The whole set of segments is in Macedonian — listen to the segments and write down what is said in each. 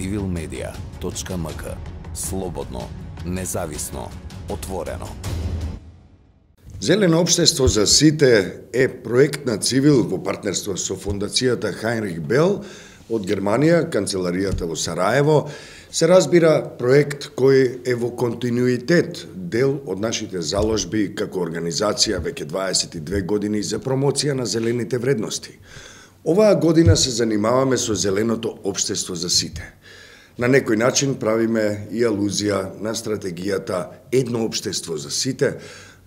civilmedia.mk. Слободно, независно, отворено. Зелено општество за сите е проект на Цивил во партнерство со фондацијата Хайнрих Бел од Германија, канцеларијата во Сараево. Се разбира проект кој е во континуитет дел од нашите заложби како организација веќе 22 години за промоција на зелените вредности. Оваа година се занимаваме со зеленото општество за сите. На некој начин правиме и алузија на стратегијата едно општество за сите,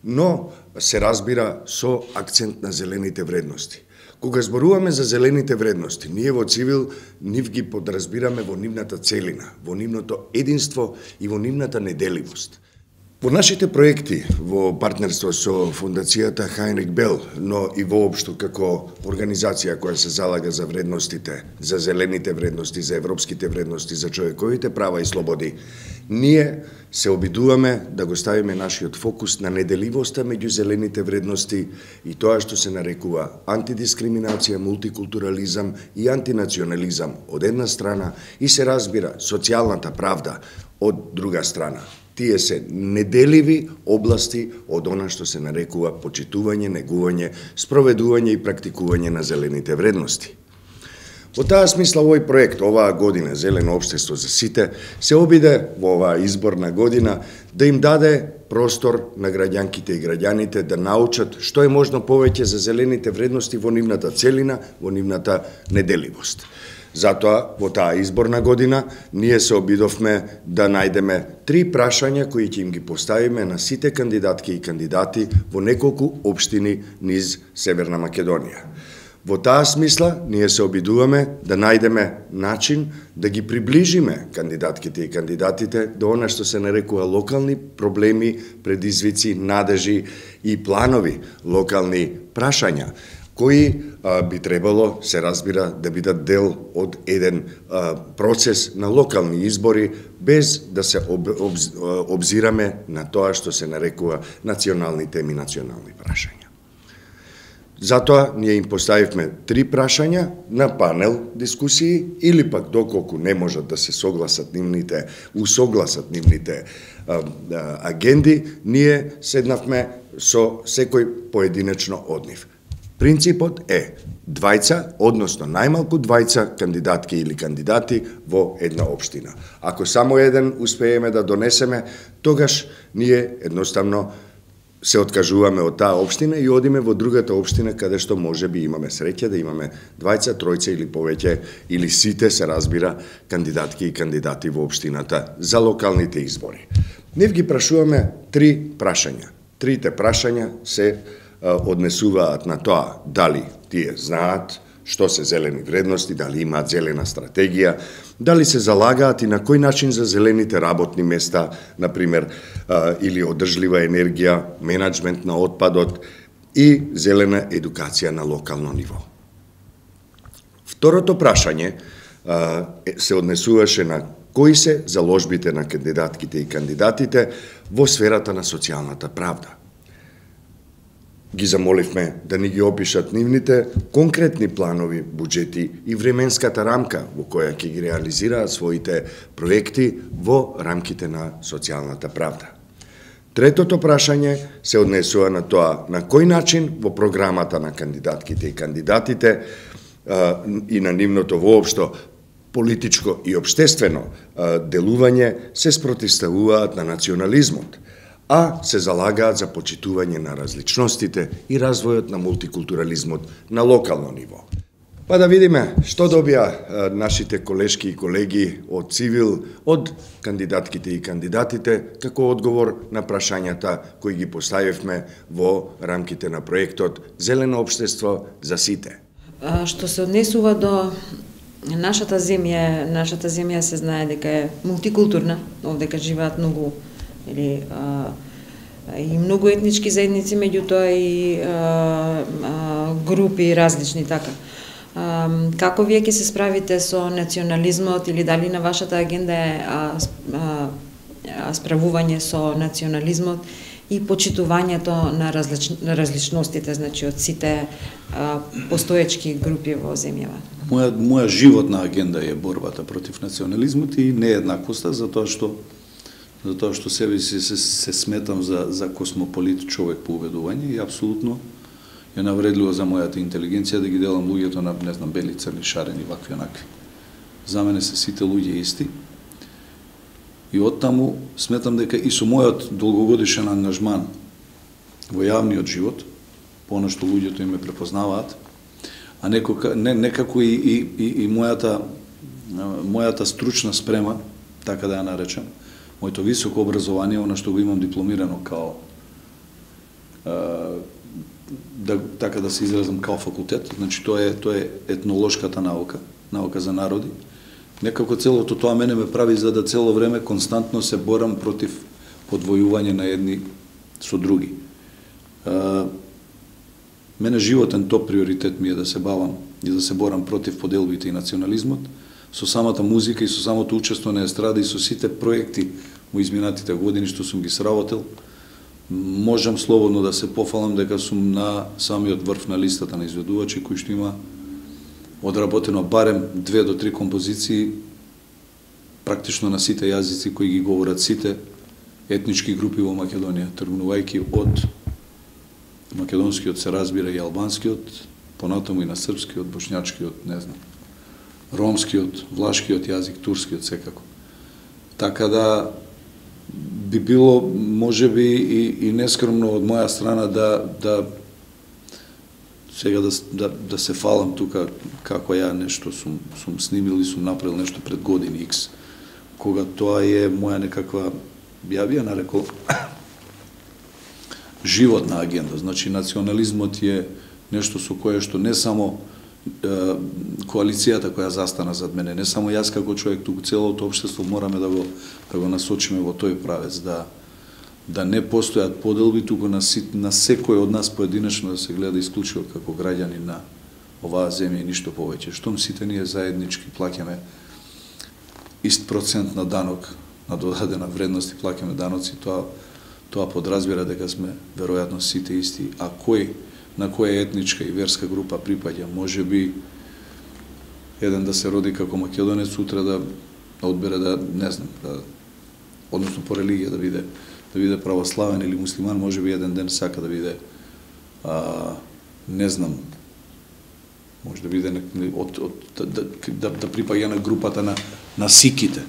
но се разбира со акцент на зелените вредности. Кога зборуваме за зелените вредности, ние во Цивил нив ги подразбираме во нивната целина, во нивното единство и во нивната неделивост. Во нашите проекти во партнерство со фондацијата Хайнрих Бел, но и воопшто како организација која се залага за вредностите, за зелените вредности, за европските вредности, за човековите права и слободи, ние се обидуваме да го ставиме нашиот фокус на неделивоста меѓу зелените вредности и тоа што се нарекува антидискриминација, мултикултурализам и антинационализам од една страна и се разбира социјалната правда од друга страна. Тие се неделиви области од она што се нарекува почитување, негување, спроведување и практикување на зелените вредности. Во таа смисла овој проект оваа година Зелено општество за сите се обиде во оваа изборна година да им даде простор на граѓанките и граѓаните да научат што е можно повеќе за зелените вредности во нивната целина, во нивната неделивост. Затоа, во таа изборна година, ние се обидовме да најдеме 3 прашања кои ќе им ги поставиме на сите кандидатки и кандидати во неколку општини низ Северна Македонија. Во таа смисла, ние се обидуваме да најдеме начин да ги приближиме кандидатките и кандидатите до она што се нарекува локални проблеми, предизвици, надежи и планови, локални прашања, кои би требало, се разбира, да бидат дел од еден процес на локални избори, без да се обзираме на тоа што се нарекува национални теми, национални прашања. Затоа ние им поставивме 3 прашања на панел дискусии или пак доколку не можат да се усогласат нивните агенди, ние седнавме со секој поединечно од нив. Принципот е двајца, односно најмалку двајца кандидатки или кандидати во една општина. Ако само еден успееме да донесеме, тогаш ние едноставно се откажуваме од таа општина и одиме во другата општина каде што може би имаме среќа да имаме двајца, тројца или повеќе, или сите се разбира кандидатки и кандидати во општината за локалните избори. Нив ги прашуваме 3 прашања. Трите прашања се однесуваат на тоа дали тие знаат што се зелени вредности, дали имаат зелена стратегија, дали се залагаат и на кој начин за зелените работни места, например, или одржлива енергија, менеджмент на отпадот и зелена едукација на локално ниво. Второто прашање се однесуваше на кои се заложбите на кандидатките и кандидатите во сферата на социјалната правда. Ги замоливме да ни ги опишат нивните конкретни планови, буџети и временската рамка во која ќе ги реализираат своите проекти во рамките на социјалната правда. Третото прашање се однесува на тоа на кој начин во програмата на кандидатките и кандидатите и на нивното воопшто политичко и општествено делување се спротивставуваат на национализмот, а се залагаат за почитување на различностите и развојот на мултикултурализмот на локално ниво. Па да видиме што добија нашите колешки и колеги од Цивил, од кандидатките и кандидатите, како одговор на прашањата кои ги поставивме во рамките на проектот Зелено општество за сите. Што се однесува до нашата земја се знае дека е мултикултурна, овдека живеат многу и многу етнички заедници, меѓутоа и групи различни така. Како вие ќе се справите со национализмот или дали на вашата агенда е справување со национализмот и почитувањето на различностите, значи од сите постоечки групи во земјава? моја животна агенда е борбата против национализмот и нееднаквоста, затоа што себе си се сметам за космополит човек по убедување и апсолутно е навредливо за мојата интелигенција да ги делам луѓето на, не знам, бели, црни, шарени, вакви, онакви. За мене се сите луѓе исти. И оттаму сметам дека и со мојот долгогодишен ангажман во јавниот живот, по она што луѓето им ме препознаваат, а некако и мојата стручна спрема, така да ја наречам, моето високо образование, она што го имам дипломирано као така да се изразам као факултет, значи тоа е етнолошката наука, наука за народи. Некако целото тоа мене ме прави за да цело време константно се борам против подвојување на едни со други. Мене животен топ приоритет ми е да се бавам и да се борам против поделбите и национализмот, со самата музика и со самото учество на естрада и со сите проекти во изминатите години што сум ги сработил. Можам слободно да се пофалам дека сум на самиот врв на листата на изведувачи кои што има одработено барем 2 до 3 композиции практично на сите јазици кои ги говорат сите етнички групи во Македонија, тргнувајќи од македонскиот се разбира и албанскиот, понатаму и на српскиот, бошњачкиот, не знам, ромскиот, влашкиот јазик, турскиот секако. Така да би било можеби и нескромно од моја страна да сега да се фалам тука како ја нешто сум снимил и сум направил нешто пред години X, кога тоа е моја некаква, ја би ја нарекол животна агенда. Значи национализмот е нешто со кое што не само коалицијата која застана зад мене, не само јас како човек, туку целото општество мораме да го насочиме во тој правец, да не постојат поделби, туку на секој од нас поединечно да се гледа исклучиво како граѓани на оваа земја и ништо повеќе. Штом сите ние заеднички плаќаме ист процент на данок, на додадена вредност и плаќаме даноци, тоа подразбира дека сме веројатно сите исти, а на која етничка и верска група припаѓа, може би еден да се роди како македонец, утре да одбере да, не знам, односно по религија да биде православен или муслиман, може би еден ден сака да биде, не знам, може да биде да припаѓа на групата на сиките,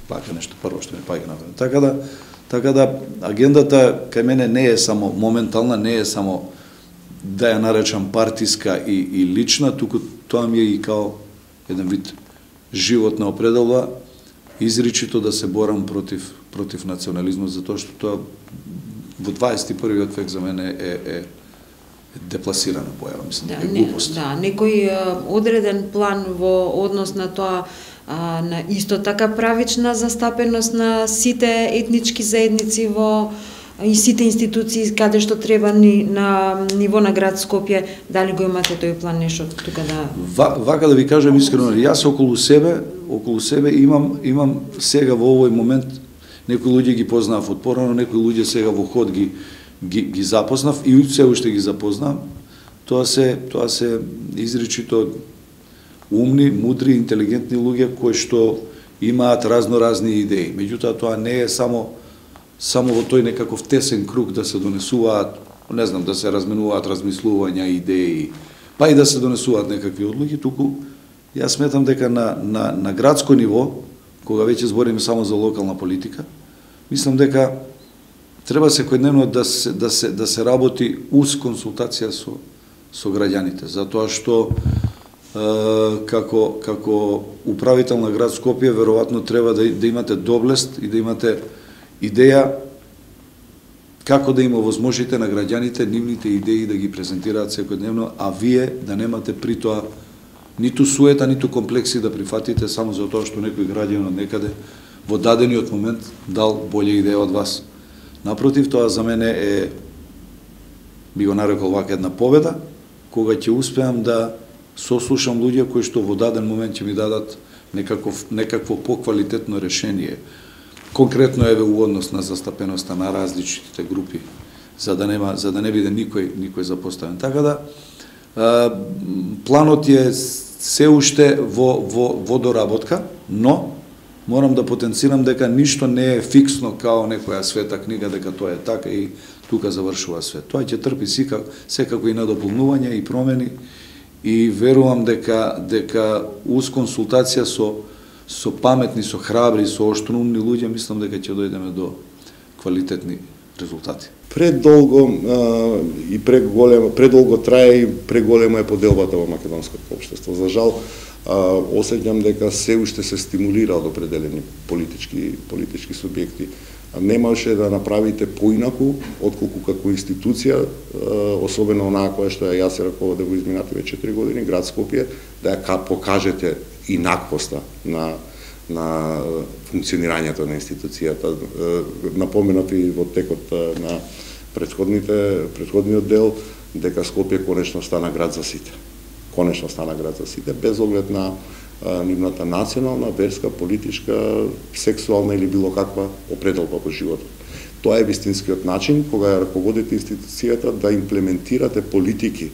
пака нешто прво што ми паѓа на време. Така да агендата кај мене не е само моментална, не е само да ја наречам партиска и лична, туку тоа ми е и као еден вид животна определба, изричито да се борам против национализмот, затоа што тоа во 21. век за мене е депласирана појава, мислам, е глупост. Да, некој одреден план во однос на тоа, на исто така правична застапеност на сите етнички заедници и сите институции каде што треба на ниво на град Скопје, дали го имате тој план нешто тука да... Вака да ви кажам искрено, јас околу себе имам сега во овој момент, некои луѓе ги познав од порано, некои луѓе сега во ход ги запознав и се уште ги запознав. Тоа се изричито умни, мудри, интелигентни луѓе кои што имаат разноразни идеи. Меѓутоа тоа не е само во тој некаков тесен круг да се донесуваат, не знам, да се разменуваат размислувања, идеи, па и да се донесуваат некакви одлуки, туку јас сметам дека на градско ниво, кога веќе збориме само за локална политика, мислам дека треба секојдневно да се работи уз консултација со граѓаните, затоа што како управител на град Скопје веројатно треба да имате доблест и да имате идеја како да им овозможите на граѓаните нивните идеи да ги презентираат секојдневно, а вие да немате при тоа ниту суета, ниту комплекси да прифатите само за тоа што некој граѓанин од некаде во дадениот момент дал болја идеја од вас. Напротив, тоа за мене би го нарекол вака една победа, кога ќе успеам да сослушам луѓе кои што во даден момент ќе ми дадат некакво поквалитетно решение. Конкретно еве у однос на застапеноста на различните групи, за да не биде никој запоставен. Така да планот е се уште во доработка, но морам да потенцирам дека ништо не е фиксно као некоја света книга, дека тоа е така и тука завршува свет. Тоа ќе трпи секако и надополнување и промени и верувам дека уз консултација со паметни, со храбри, со оштроумни луѓе, мислам дека ќе дојдеме до квалитетни резултати. Предолго и предолго трае и преголема е поделбата во македонското општество. За жал, осеќам дека се уште се стимулира од определени политички субјекти. Немаше да направите поинаку отколку како институција, особено онаа која што ја се раководев во изминативе 4 години, град Скопје, да ја покажете инаквоста на функционирањето на институцијата. Напоменати во текот на предходниот дел, дека Скопје конечно стана град за сите. Конечно стана град за сите, без оглед на нивната национална, верска, политичка, сексуална или било каква определба во животот. Тоа е вистинскиот начин кога ја раководите институцијата да имплементирате политики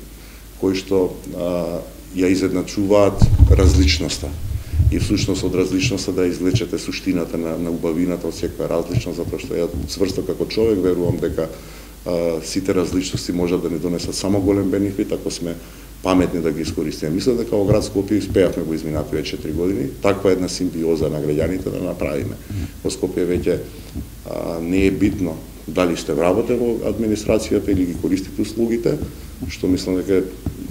кои што ја изедначуваат различноста. И всушност од различноста да извлечете суштината на убавината од секоја различност, затоа што ја цврсто како човек верувам дека сите различности можат да ни донесат само голем бенефит ако сме паметни да ги искористиме. Мислам дека во град Скопје успеавме во изминативе 4 години таква една симбиоза на граѓаните да направиме. Во Скопје веќе не е битно дали сте вработен во администрацијата или ги користите услугите, што мислам дека е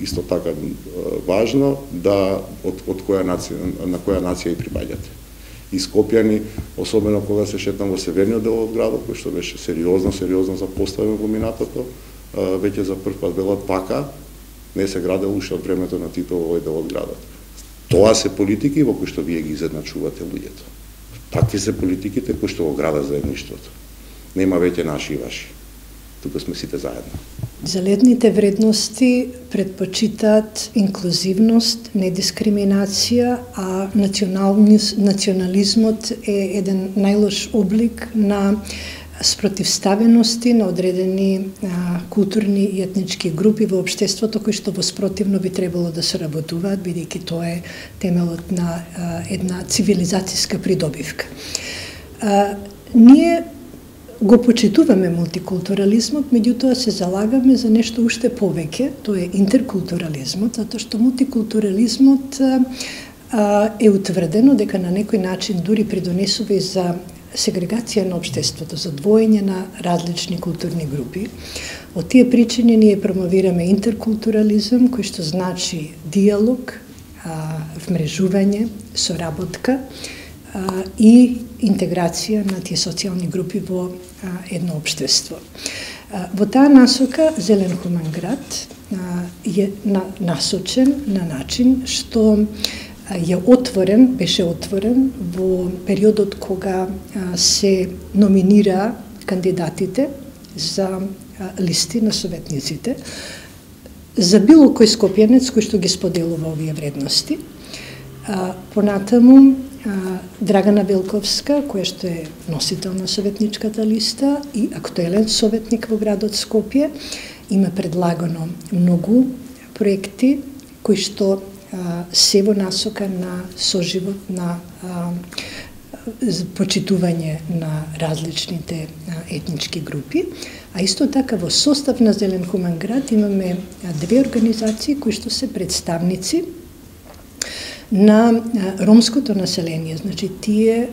исто така важно да од која нација, на која нација и припаѓате. И скопјани, особено кога се шетам во северниот дел од градот, кој што беше сериозно запоставен во минатото, веќе за прв пат велат пака не се градел уште од времето на Тито во овој дел од градот. Тоа се политики во кои што вие ги изедначувате луѓето. Такви се политиките кои што го градат заедништвото. Нема веќе наши и ваши. Тука сме сите заедно. Заледните вредности предпочитаат инклузивност, недискриминација, а национализмот е еден најлош облик на спротивставености на одредени културни и етнички групи во општеството кои што во спротивно би требало да соработуваат, бидејќи тоа е темелот на една цивилизацијска придобивка. Ние го почитуваме мултикултурализмот, меѓутоа се залагаме за нешто уште повеќе, тоа е интеркултурализмот, затоа што мултикултурализмот е утврдено дека на некој начин дури придонесува и за сегрегација на општеството, за двоење на различни културни групи. Од тие причини ние промовираме интеркултурализм, кој што значи диалог, вмрежување, соработка и интеграција на тие социјални групи во едно општество. Во таа насока Зелен хуман град е насочен на начин што беше отворен во периодот кога се номинира кандидатите за листи на советниците за било кој скопјанец кој што ги споделува овие вредности. Понатаму Драгана Велковска, која што е носител на советничката листа и актуелен советник во градот Скопје, има предлагано многу проекти кои што се во насока на соживот, на почитување на различните етнички групи, а исто така во состав на Зелен хуман град имаме две организации кои што се представници на ромското население. Значи, тие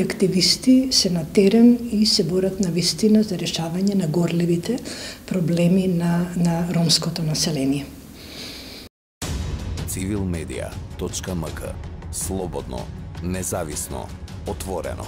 активисти се на терен и се борат на вистина за решавање на горлевите проблеми на ромското население. Civilmedia.mk. Слободно, независно, отворено.